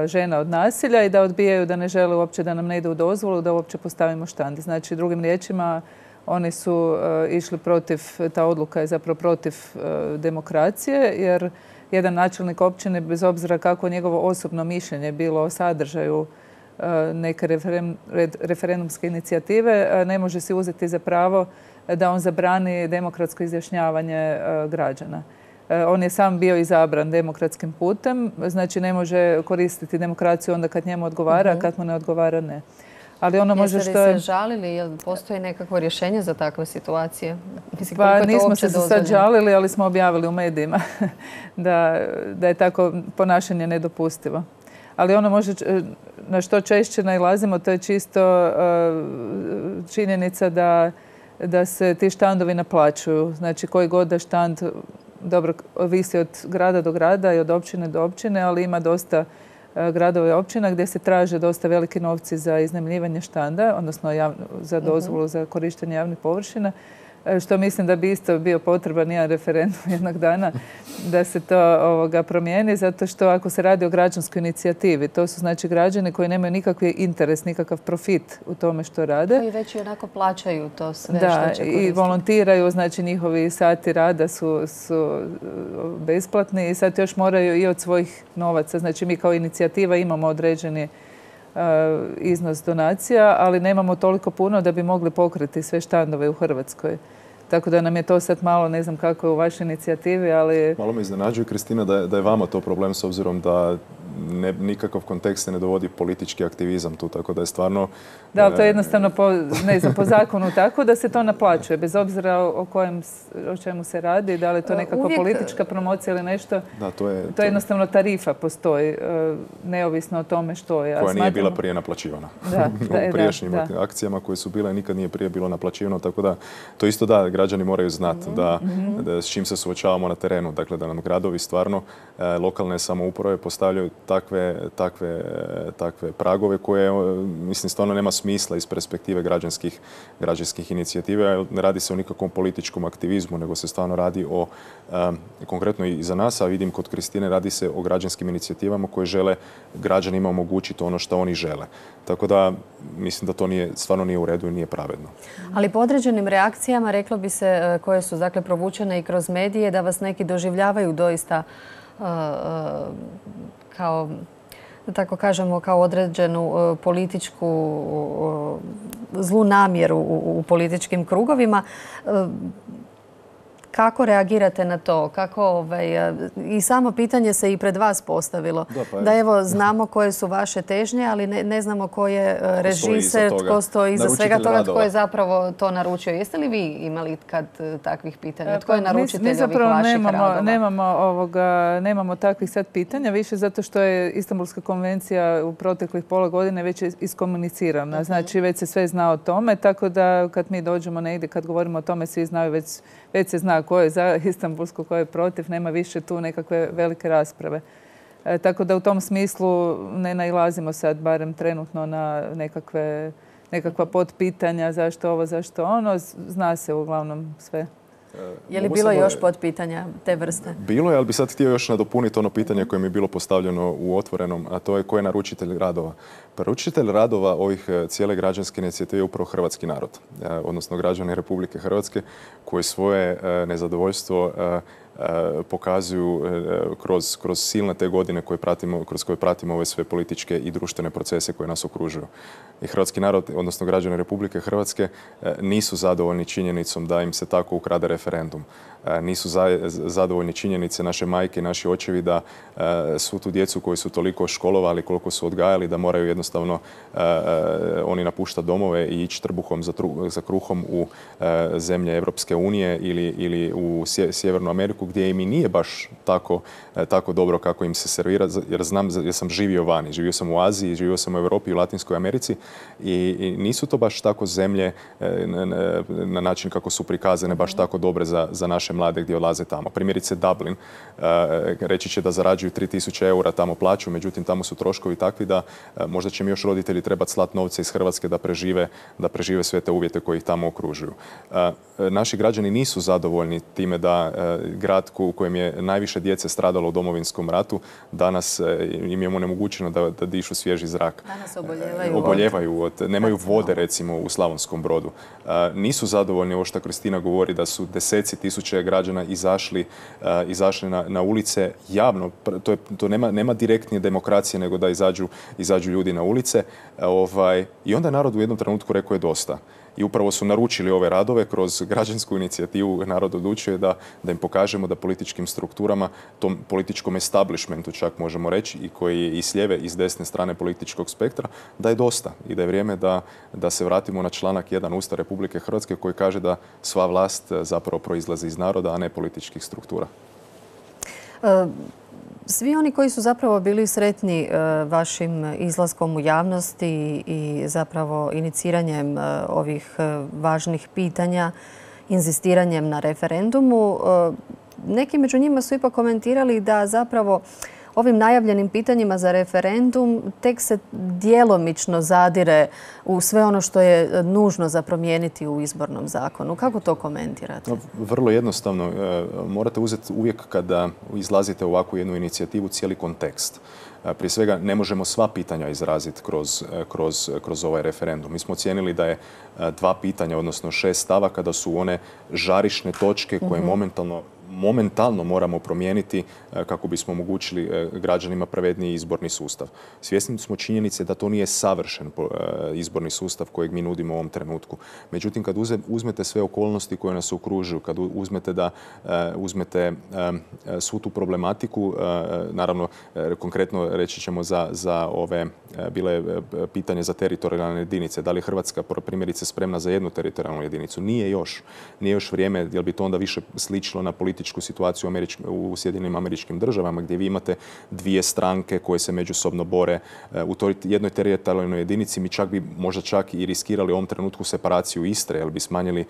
[SPEAKER 2] žena od nasilja i da odbijaju, da ne žele uopće da nam ne ide u dozvolu, da uopće postavimo štand. Znači, drugim riječima, oni su išli protiv, ta odluka je zapravo protiv demokracije, jer jedan načelnik općine, bez obzira kako njegovo osobno mišljenje bilo o sadržaju neke referendumske inicijative, ne može si uzeti za pravo da on zabrani demokratsko izjašnjavanje građana. On je sam bio izabran demokratskim putem, znači ne može koristiti demokraciju onda kad njemu odgovara, a kad mu ne odgovara ne. Ali ono može što je...
[SPEAKER 1] Jeste li se žalili? Jel postoji nekakvo rješenje za takve situacije?
[SPEAKER 2] Pa nismo se sad žalili, ali smo objavili u medijima da je tako ponašanje nedopustivo. Ali ono može, na što češće nailazimo, to je čisto činjenica da se ti štandovi naplaćuju. Znači koji god da štand, dobro, visi od grada do grada i od općine do općine, ali ima dosta gradova i općina gdje se traže dosta veliki novci za iznajmljivanje štanda, odnosno za dozvolu za korištenje javnih površina. što mislim da bi isto bio potreban jedan referendum jednog dana da se to promijeni, zato što ako se radi o građanskoj inicijativi, to su znači građani koji nemaju nikakvi interes, nikakav profit u tome što rade.
[SPEAKER 1] Koji već i onako plaćaju to sve
[SPEAKER 2] da,
[SPEAKER 1] što će koristiti.
[SPEAKER 2] I volontiraju, znači njihovi sati rada su besplatni i sad još moraju i od svojih novaca. Znači mi kao inicijativa imamo određeni iznos donacija, ali nemamo toliko puno da bi mogli pokriti sve štandove u Hrvatskoj. Tako da nam je to sad malo, ne znam kako je u vašoj inicijativi, ali...
[SPEAKER 3] Malo me iznenađuje, Kristina, da je vama to problem s obzirom da nikakav kontekst se ne dovodi politički aktivizam tu, tako da je stvarno...
[SPEAKER 2] Da, ali to je jednostavno po zakonu tako da se to naplaćuje, bez obzira o čemu se radi, da li je to nekakva politička promocija ili nešto.
[SPEAKER 3] Da, to je
[SPEAKER 2] jednostavno tarifa postoji, neovisno o tome što je.
[SPEAKER 3] Koja nije bila prije naplaćivana. U prijašnjim akcijama koje su bile nikad nije prije bilo naplaćivano, tako da to isto da, građani moraju znati da s čim se suočavamo na terenu. Dakle, da nam gradovi stvarno, lokalne samouprave postavljaju takve pragove koje, mislim, stvarno nema smisla iz perspektive građanskih inicijativa. Ne radi se o nikakvom političkom aktivizmu, nego se stvarno radi o, konkretno i za nas, a vidim kod Kristine, radi se o građanskim inicijativama koje žele građanima omogućiti ono što oni žele. Tako da mislim da to stvarno nije u redu i nije pravedno.
[SPEAKER 1] Ali po određenim reakcijama, reklo bi se, koje su dakle provučene i kroz medije, da vas neki doživljavaju doista kao, da tako kažemo, kao određenu političku zlu namjeru u političkim krugovima. Kako reagirate na to? I samo pitanje se i pred vas postavilo. Da evo, znamo koje su vaše težnje, ali ne znamo ko je režiser, tko stoji iza svega toga, tko je zapravo to naručio. Jeste li vi imali kad takvih pitanja? Tko je naručitelj ovih vaših radova?
[SPEAKER 2] Nemamo takvih sad pitanja, više zato što je Istanbulska konvencija u proteklih pola godine već iskomunicirana. Znači, već se sve zna o tome, tako da kad mi dođemo negdje, kad govorimo o tome, svi znaju, već se zna ko je za Istanbulsku, ko je protiv, nema više tu nekakve velike rasprave. Tako da u tom smislu ne nailazimo sad, barem trenutno, na nekakva potpitanja zašto ovo, zašto ono. Zna se uglavnom sve.
[SPEAKER 1] Je li bilo još potpitanja te vrste?
[SPEAKER 3] Bilo je, ali bi sad htio još nadopuniti ono pitanje koje mi je bilo postavljeno u Otvorenom, a to je ko je naručitelj radova. Naručitelj radova ovih cijele građanske inicijative je upravo hrvatski narod, odnosno građani Republike Hrvatske koji svoje nezadovoljstvo pokazuju kroz silne te godine kroz koje pratimo ove sve političke i društvene procese koje nas okružuju. I hrvatski narod, odnosno građani Republike Hrvatske, nisu zadovoljni činjenicom da im se tako ukrade referendum. Nisu zadovoljni činjenice naše majke i naši očevi da svu tu djecu koju su toliko školovali, koliko su odgajali, da moraju jednostavno oni napuštati domove i ići trbuhom za kruhom u zemlje Europske unije ili u Sjevernu Ameriku, gdje im i nije baš tako dobro kako im se servira, jer sam živio vani. Živio sam u Aziji, živio sam u Europi i u Latinskoj Americi i nisu to baš tako zemlje na način kako su prikazane baš tako dobre za naše mlade gdje odlaze tamo. Primjerice Dublin, reći će da zarađuju 3000 eura tamo plaću, međutim tamo su troškovi takvi da možda će mi još roditelji trebati slati novce iz Hrvatske da prežive sve te uvjete koji ih tamo okružuju. Naši građani nisu zadovoljni time da grad u kojem je najviše djece stradalo u Domovinskom ratu, danas im je onemogućeno da dišu svježi zrak.
[SPEAKER 1] Danas
[SPEAKER 3] oboljevaju nemaju vode recimo u Slavonskom Brodu. Nisu zadovoljni ovo što Kristina govori da su deseci tisuća građana izašli na ulice javno. To nema direktnije demokracije nego da izađu ljudi na ulice. I onda je narod u jednom trenutku rekao je dosta. I upravo su naručili ove radove kroz građansku inicijativu Narod odlučuje da im pokažemo da političkim strukturama, tom političkom establishmentu čak možemo reći, i koji je i s lijeve i s desne strane političkog spektra, da je dosta i da je vrijeme da se vratimo na članak 1 Ustava Republike Hrvatske koji kaže da sva vlast zapravo proizlazi iz naroda, a ne političkih struktura.
[SPEAKER 1] Svi oni koji su zapravo bili sretni vašim izlaskom u javnosti i zapravo iniciranjem ovih važnih pitanja, inzistiranjem na referendumu, neki među njima su ipak komentirali da zapravo ovim najavljenim pitanjima za referendum tek se djelomično zadire u sve ono što je nužno za promijeniti u izbornom zakonu. Kako to komentirate?
[SPEAKER 3] Vrlo jednostavno. Morate uzeti uvijek kada izlazite u ovakvu jednu inicijativu cijeli kontekst. Prije svega ne možemo sva pitanja izraziti kroz ovaj referendum. Mi smo ocijenili da je 2 pitanja, odnosno 6 stavaka, da su one žarišne točke koje momentalno moramo promijeniti kako bismo omogućili građanima pravedniji izborni sustav. Svjesni smo činjenice da to nije savršen izborni sustav kojeg mi nudimo u ovom trenutku. Međutim, kad uzmete sve okolnosti koje nas okružuju, kad uzmete svu tu problematiku, naravno konkretno reći ćemo za ove bile pitanje za teritorijalne jedinice. Da li je Hrvatska primjerice spremna za jednu teritorijalnu jedinicu? Nije još vrijeme, jer bi to onda više sličilo na političku situaciju u Sjedinjenim Američkim Državama, gdje vi imate 2 stranke koje se međusobno bore u toj jednoj teritorijalnoj jedinici. Mi možda čak i riskirali u ovom trenutku separaciju Istre, jer bi smanjili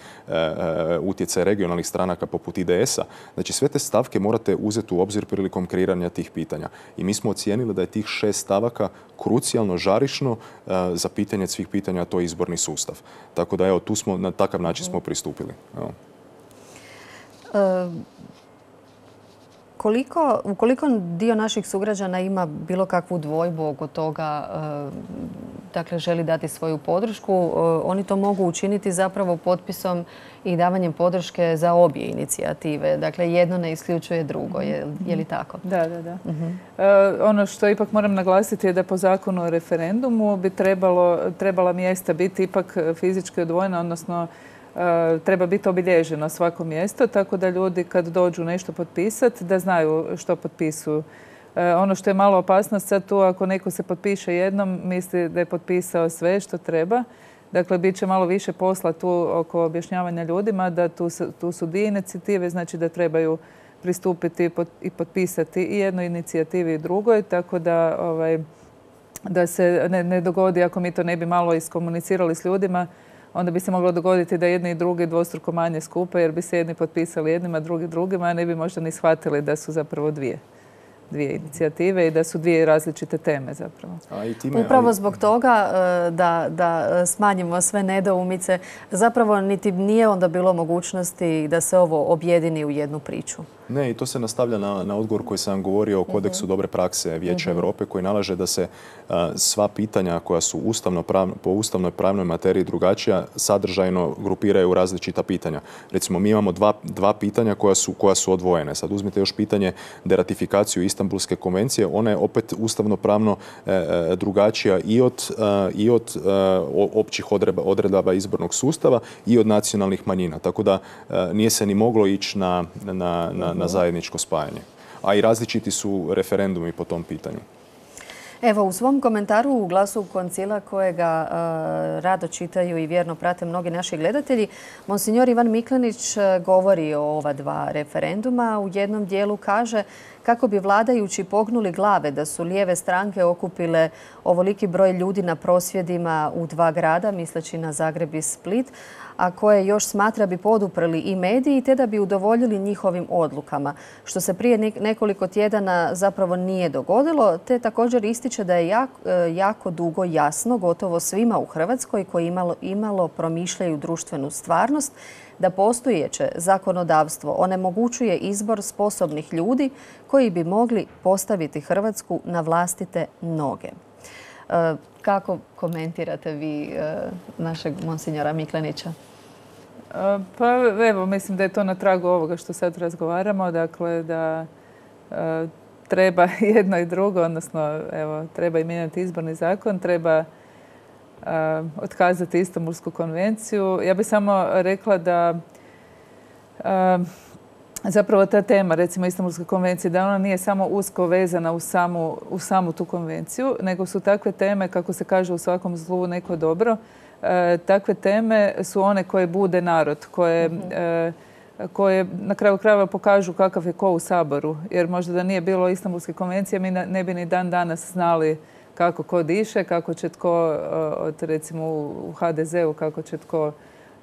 [SPEAKER 3] utjecaj regionalnih stranaka poput IDS-a. Znači, sve te stavke morate uzeti u obzir prilikom kreiranja tih pitanja. I mi smo ocijenili da je tih 6 stavaka krucijalno žarišno za pitanje svih pitanja, a to je izborni sustav. Tako da, evo, tu smo na takav način smo pristupili. Evo.
[SPEAKER 1] Ukoliko dio naših sugrađana ima bilo kakvu dvojbu oko toga, dakle želi dati svoju podršku, oni to mogu učiniti zapravo potpisom i davanjem podrške za obje inicijative. Dakle, jedno ne isključuje drugo. Je li tako?
[SPEAKER 2] Da. Ono što ipak moram naglasiti je da po zakonu o referendumu bi trebala mjesta biti ipak fizički odvojena, odnosno treba biti obilježeno svako mjesto, tako da ljudi kad dođu nešto potpisati, da znaju što potpisuju. Ono što je malo opasnost sad tu, ako neko se potpiše jednom, misli da je potpisao sve što treba. Dakle, bit će malo više posla tu oko objašnjavanja ljudima da tu su 2 inicijative, znači da trebaju pristupiti i potpisati i jednoj inicijativi i drugoj, tako da se ne dogodi, ako mi to ne bi malo iskomunicirali s ljudima, onda bi se moglo dogoditi da jedni i drugi dvostruko manje skupe, jer bi se jedni potpisali jednima, drugi drugima, a ne bi možda ni shvatili da su zapravo dvije inicijative i da su 2 različite teme zapravo.
[SPEAKER 1] Upravo zbog toga da smanjimo sve nedoumice, zapravo niti nije onda bilo mogućnosti da se ovo objedini u jednu priču.
[SPEAKER 3] Ne, i to se nastavlja na odgovor koji sam vam govorio o kodeksu dobre prakse Vijeća Europe, koji nalaže da se sva pitanja koja su po ustavnoj pravnoj materiji drugačija sadržajno grupiraju u različita pitanja. Recimo, mi imamo 2 pitanja koja su odvojene. Sad uzmite još pitanje deratifikaciju Istanbulske konvencije. Ona je opet ustavno pravno drugačija i od općih odredaba izbornog sustava i od nacionalnih manjina. Tako da nije se ni moglo ići na zajedničko spajanje. A i različiti su referendumi po tom pitanju.
[SPEAKER 1] Evo, u svom komentaru u Glasu koncila, kojega rado čitaju i vjerno prate mnogi naši gledatelji, monsignor Ivan Miklenić govori o ova 2 referenduma. U jednom dijelu kaže kako bi vladajući pognuli glave da su lijeve stranke okupile ovoliki broj ljudi na prosvjedima u 2 grada, misleći na Zagreb i Split, a koje još smatra bi poduprli i mediji, te da bi udovoljili njihovim odlukama, što se prije nekoliko tjedana zapravo nije dogodilo, te također ističe da je jako dugo jasno gotovo svima u Hrvatskoj koji imalo promišljaju društvenu stvarnost, da postojeće zakonodavstvo onemogućuje izbor sposobnih ljudi koji bi mogli postaviti Hrvatsku na vlastite noge. Kako komentirate vi našeg monsinjora Miklenića?
[SPEAKER 2] Pa evo, mislim da je to na tragu ovoga što sad razgovaramo, dakle da treba jedno i drugo, odnosno evo, treba i mijenjati izborni zakon, treba otkazati Istanbulsku konvenciju. Ja bih samo rekla da zapravo ta tema, recimo Istanbulske konvencije, da ona nije samo usko vezana u samu tu konvenciju, nego su takve teme, kako se kaže u svakom zlu neko dobro, takve teme su one koje bude narod, koje na kraju krajeva pokažu kakav je ko u Saboru. Jer možda da nije bilo Istanbulske konvencije, mi ne bi ni dan danas znali kako ko diše, kako će tko, recimo u HDZ-u, kako će tko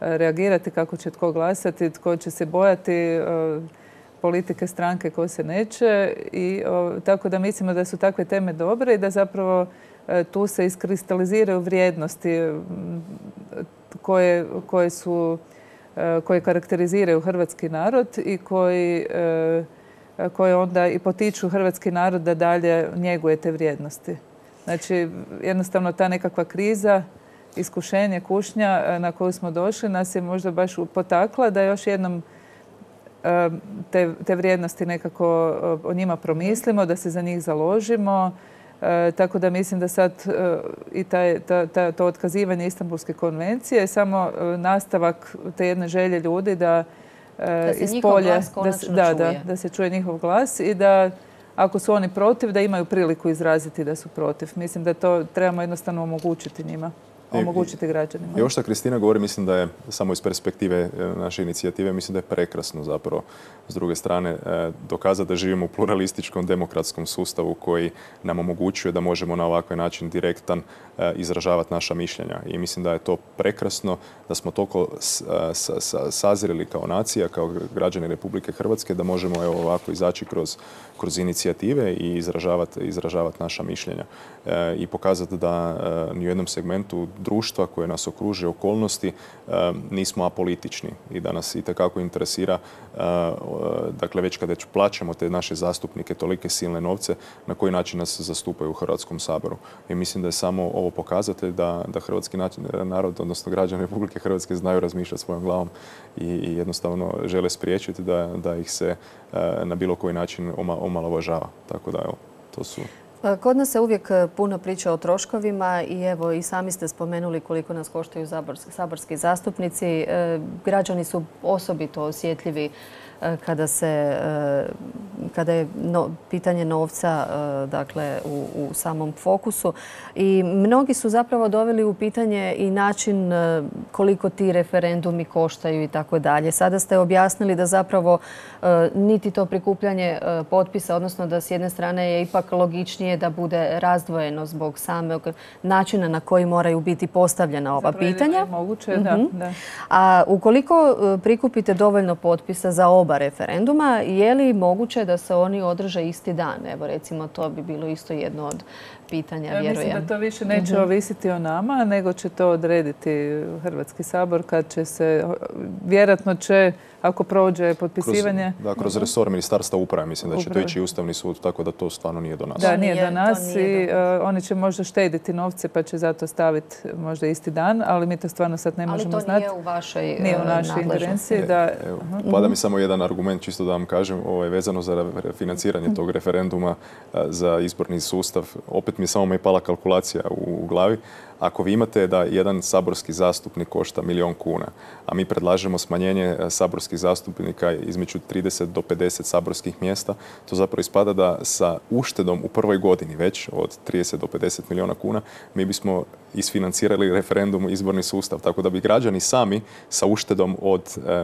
[SPEAKER 2] reagirati, kako će tko glasati, tko će se bojati politike stranke ko se neće. I tako da mislimo da su takve teme dobre i da zapravo tu se iskristaliziraju vrijednosti koje karakteriziraju hrvatski narod i koji onda i potiču hrvatski narod da dalje njeguje te vrijednosti. Znači, jednostavno ta nekakva kriza, iskušenje, kušnja na koju smo došli nas je možda baš potakla da još jednom te vrijednosti nekako o njima promislimo, da se za njih založimo. Tako da mislim da sad i to otkazivanje Istanbulske konvencije je samo nastavak te jedne želje ljudi da
[SPEAKER 1] ispolje,
[SPEAKER 2] da se čuje njihov glas i da ako su oni protiv, da imaju priliku izraziti da su protiv. Mislim da to trebamo jednostavno omogućiti njima. Omogućiti građanima.
[SPEAKER 3] I ovo što Kristina govori, mislim da je samo iz perspektive naše inicijative, mislim da je prekrasno zapravo s druge strane dokazati da živimo u pluralističkom demokratskom sustavu koji nam omogućuje da možemo na ovakav način direktan izražavati naša mišljenja. I mislim da je to prekrasno, da smo toliko sazreli kao nacija, kao građani Republike Hrvatske, da možemo ovako izaći kroz inicijative i izražavati naša mišljenja. I pokazati da ni u jednom segmentu društva koje nas okružuje, okolnosti, nismo apolitični i da nas itekako interesira, dakle već kada plaćamo te naše zastupnike tolike silne novce, na koji način nas zastupaju u Hrvatskom saboru. I mislim da je samo ovo pokazatelj da hrvatski narod, odnosno građani Republike Hrvatske znaju razmišljati svojom glavom i jednostavno žele spriječiti da ih se na bilo koji način omalovažava. Tako da evo, to su...
[SPEAKER 1] Kod nas se uvijek puno priča o troškovima i evo i sami ste spomenuli koliko nas koštaju saborski zastupnici. Građani su osobito osjetljivi kada je pitanje novca dakle, u samom fokusu. I mnogi su zapravo doveli u pitanje i način koliko ti referendumi koštaju i tako dalje. Sada ste objasnili da zapravo niti to prikupljanje potpisa, odnosno da s jedne strane je ipak logičnije da bude razdvojeno zbog samog načina na koji moraju biti postavljena ova pitanja.
[SPEAKER 2] Je moguće, da.
[SPEAKER 1] A ukoliko prikupite dovoljno potpisa za oba referenduma, je li moguće da se oni održe isti dan? Evo recimo to bi bilo isto jedno od pitanja, vjerujem.
[SPEAKER 2] Mislim da to više neće ovisiti o nama, nego će to odrediti Hrvatski sabor kad će se, vjerojatno će, ako prođe potpisivanje...
[SPEAKER 3] Kroz resor Ministarstva uprave, mislim da će to ići Ustavni sud, tako da to stvarno nije do nas.
[SPEAKER 2] Da, nije do nas i oni će možda štediti novce pa će zato staviti možda isti dan, ali mi to stvarno sad ne možemo znati.
[SPEAKER 1] Ali to nije u vašoj
[SPEAKER 2] našoj ingerenciji.
[SPEAKER 3] Pada mi samo jedan argument, čisto da vam kažem, vezano za financiranje tog referenduma za izborni sustav. Opet mi samo pala kalkulacija u glavi. Ako vi imate da jedan saborski zastupnik košta 1 milijun kuna, a mi predlažemo smanjenje saborskih zastupnika između 30 do 50 saborskih mjesta, to zapravo ispada da sa uštedom u prvoj godini već od 30 do 50 milijuna kuna mi isfinancirali referendum izborni sustav. Tako da bi građani sami sa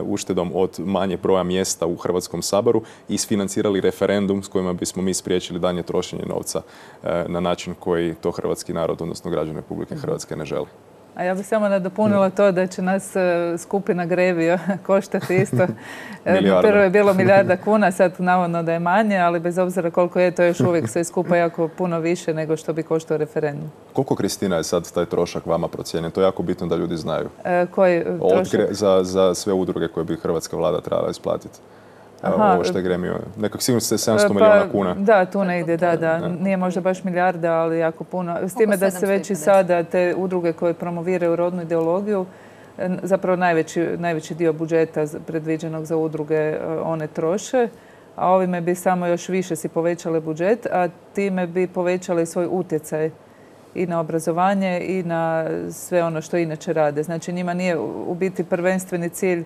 [SPEAKER 3] uštedom od manje broja mjesta u Hrvatskom saboru isfinancirali referendum s kojima bismo mi spriječili daljnje trošenje novca na način koji to hrvatski narod, odnosno građani Republike Hrvatske ne želi.
[SPEAKER 2] A ja bih samo nadopunila to da će nas skupina Grevio koštati isto. Prvo je bilo 1 milijarda kuna, sad navodno da je manje, ali bez obzira koliko je to još uvijek sve skupa jako puno više nego što bi koštao referendum.
[SPEAKER 3] Koliko, Kristina, je sad taj trošak vama procijenjen? To je jako bitno da ljudi znaju.
[SPEAKER 2] Koji trošak?
[SPEAKER 3] Za sve udruge koje bi hrvatska vlada trebala isplatiti. Ovo što je Gremio. Nekak sigurno ste 700 milijuna kuna.
[SPEAKER 2] Da, tu negdje, da. Nije možda baš milijarda, ali jako puno. S time da se već i sada te udruge koje promoviraju rodnu ideologiju, zapravo najveći dio budžeta predviđenog za udruge one troše, a ovime bi samo još više si povećale budžet, a time bi povećali svoj utjecaj i na obrazovanje i na sve ono što inače rade. Znači njima nije u biti prvenstveni cilj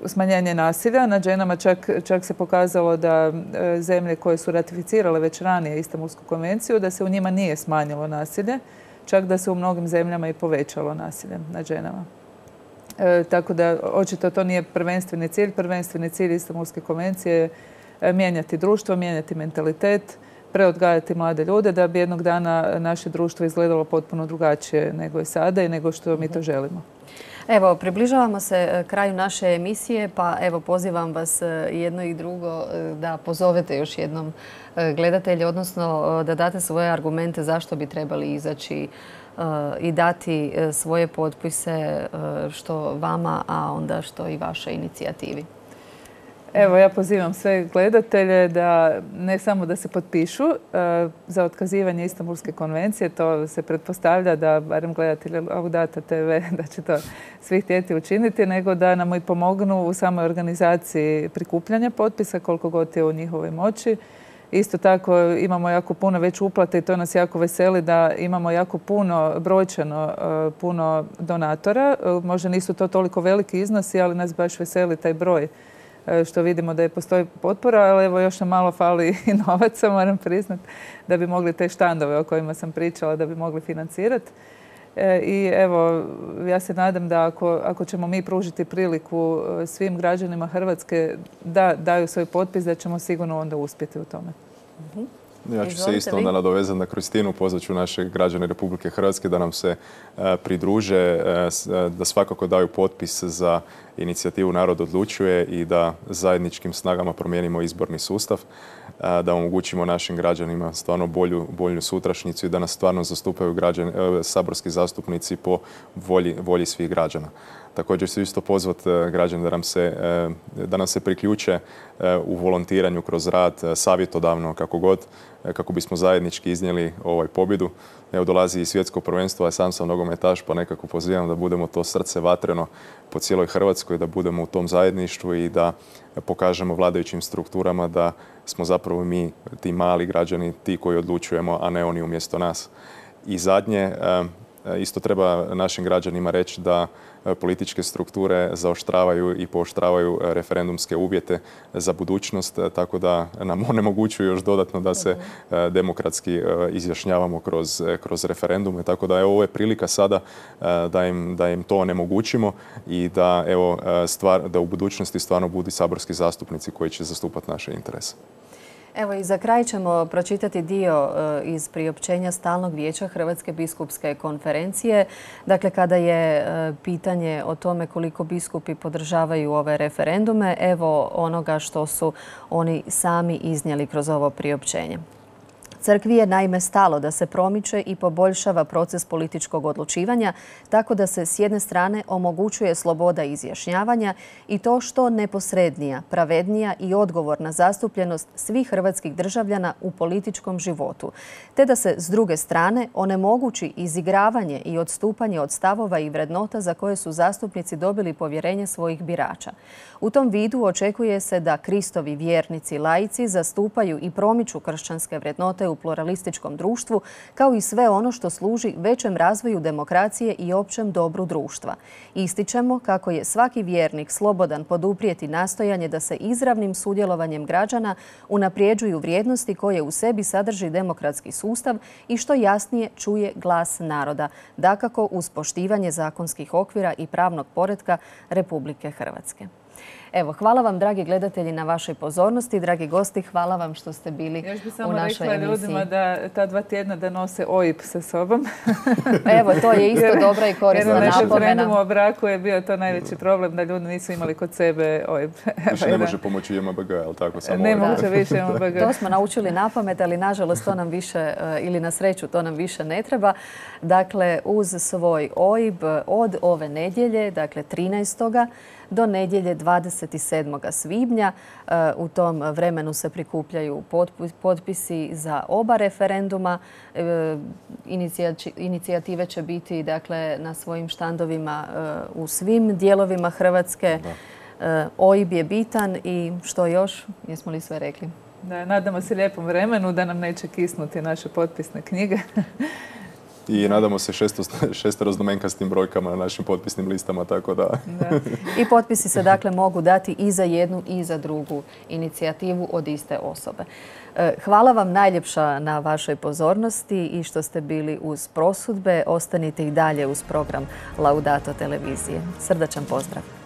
[SPEAKER 2] smanjenje nasilja nad ženama. Čak se pokazalo da zemlje koje su ratificirale već ranije Istanbulsku konvenciju, da se u njima nije smanjilo nasilje, čak da se u mnogim zemljama i povećalo nasilje nad ženama. Tako da očito to nije prvenstveni cilj. Prvenstveni cilj Istanbulske konvencije je mijenjati društvo, mijenjati mentalitet, preodgajati mlade ljude da bi jednog dana naše društvo izgledalo potpuno drugačije nego je sada i nego što mi to želimo.
[SPEAKER 1] Evo, približavamo se kraju naše emisije, pa evo pozivam vas jedno i drugo da pozovete još jednom gledatelje, odnosno da date svoje argumente zašto bi trebali izaći i dati svoje potpise što vama, a onda što i vašoj inicijativi.
[SPEAKER 2] Evo, ja pozivam sve gledatelje da ne samo da se potpišu za otkazivanje Istanbulske konvencije, to se pretpostavlja da, barem gledatelji Laudata TV, da će to svi htjeti učiniti, nego da nam i pomognu u samoj organizaciji prikupljanja potpisa, koliko god je u njihovoj moći. Isto tako imamo jako puno već uplate i to nas jako veseli da imamo jako puno, brojčano puno donatora. Možda nisu to toliko veliki iznosi, ali nas baš veseli taj broj što vidimo da postoji potpora, ali evo još nam malo fali i novaca, moram priznati, da bi mogli te štandove o kojima sam pričala, da bi mogli financirati. I evo, ja se nadam da ako ćemo mi pružiti priliku svim građanima Hrvatske da daju svoj potpis, da ćemo sigurno onda uspjeti u tome.
[SPEAKER 3] Ja ću se isto onda nadovezati na Kristinu, pozvat ću naše građane Republike Hrvatske da nam se pridruže, da svakako daju potpis za inicijativu Narod odlučuje i da zajedničkim snagama promijenimo izborni sustav, da omogućimo našim građanima stvarno bolju sutrašnjicu i da nas stvarno zastupaju saborski zastupnici po volji svih građana. Također ću isto pozvati građane da nam se priključe u volontiranju kroz rad, savjetodavno, kako bismo zajednički iznijeli pobjedu. Evo, dolazi i svjetsko prvenstvo, a sam nogometaš, pa nekako pozivam da budemo to srce vatreno po cijeloj Hrvatskoj, da budemo u tom zajedništvu i da pokažemo vladajućim strukturama da smo zapravo mi, ti mali građani, ti koji odlučujemo, a ne oni umjesto nas. I zadnje, isto treba našim građanima reći da političke strukture zaoštravaju i pooštravaju referendumske uvjete za budućnost, tako da nam onemogućuju još dodatno da se demokratski izjašnjavamo kroz referendume. Tako da ovo je prilika sada da im to onemogućimo i da u budućnosti stvarno budu saborski zastupnici koji će zastupati naše interese.
[SPEAKER 1] Evo i za kraj ćemo pročitati dio iz priopćenja Stalnog vijeća Hrvatske biskupske konferencije. Dakle, kada je pitanje o tome koliko biskupi podržavaju ove referendume, evo onoga što su oni sami iznijeli kroz ovo priopćenje. Crkvi je naime stalo da se promiče i poboljšava proces političkog odlučivanja tako da se s jedne strane omogućuje sloboda izjašnjavanja i to što neposrednija, pravednija i odgovorna zastupljenost svih hrvatskih državljana u političkom životu, te da se s druge strane onemogući izigravanje i odstupanje od stavova i vrednota za koje su zastupnici dobili povjerenje svojih birača. U tom vidu očekuje se da Kristovi vjernici laici zastupaju i promiču kršćanske vrednote u pluralističkom društvu, kao i sve ono što služi većem razvoju demokracije i općem dobru društva. Ističemo kako je svaki vjernik slobodan poduprijeti nastojanje da se izravnim sudjelovanjem građana unaprijeđuju vrijednosti koje u sebi sadrži demokratski sustav i što jasnije čuje glas naroda, dakako uz poštivanje zakonskih okvira i pravnog poretka Republike Hrvatske. Evo, hvala vam, dragi gledatelji, na vašoj pozornosti. Dragi gosti, hvala vam što ste bili u našoj emisiji.
[SPEAKER 2] Još bi samo rekla ljudima da ta 2 tjedna da nose OIB sa sobom.
[SPEAKER 1] Evo, to je isto dobra i korisna napomena.
[SPEAKER 2] Jer na referendumu o braku je bio to najveći problem da ljudi nisu imali kod sebe OIB.
[SPEAKER 3] Više ne može pomoći JMBG, ali tako samo
[SPEAKER 2] ne može više JMBG.
[SPEAKER 1] To smo naučili na pamet, ali nažalost to nam više, ili na sreću, to nam više ne treba. Dakle, uz svoj OIB od ove nedjelje, dakle 13. do nedjelje 27. svibnja. U tom vremenu se prikupljaju potpisi za oba referenduma. Inicijative će biti dakle, na svojim štandovima u svim dijelovima Hrvatske. OIB je bitan i što još? Jesmo li sve rekli?
[SPEAKER 2] Da, nadamo se lijepom vremenu da nam neće kisnuti naše potpisne knjige.
[SPEAKER 3] I nadamo se šesteroznamenkastim brojkama na našim potpisnim listama, tako da...
[SPEAKER 1] I potpisi se dakle mogu dati i za jednu i za drugu inicijativu od iste osobe. Hvala vam najljepša na vašoj pozornosti i što ste bili uz prosudbe. Ostanite i dalje uz program Laudato televizije. Srdačan pozdrav!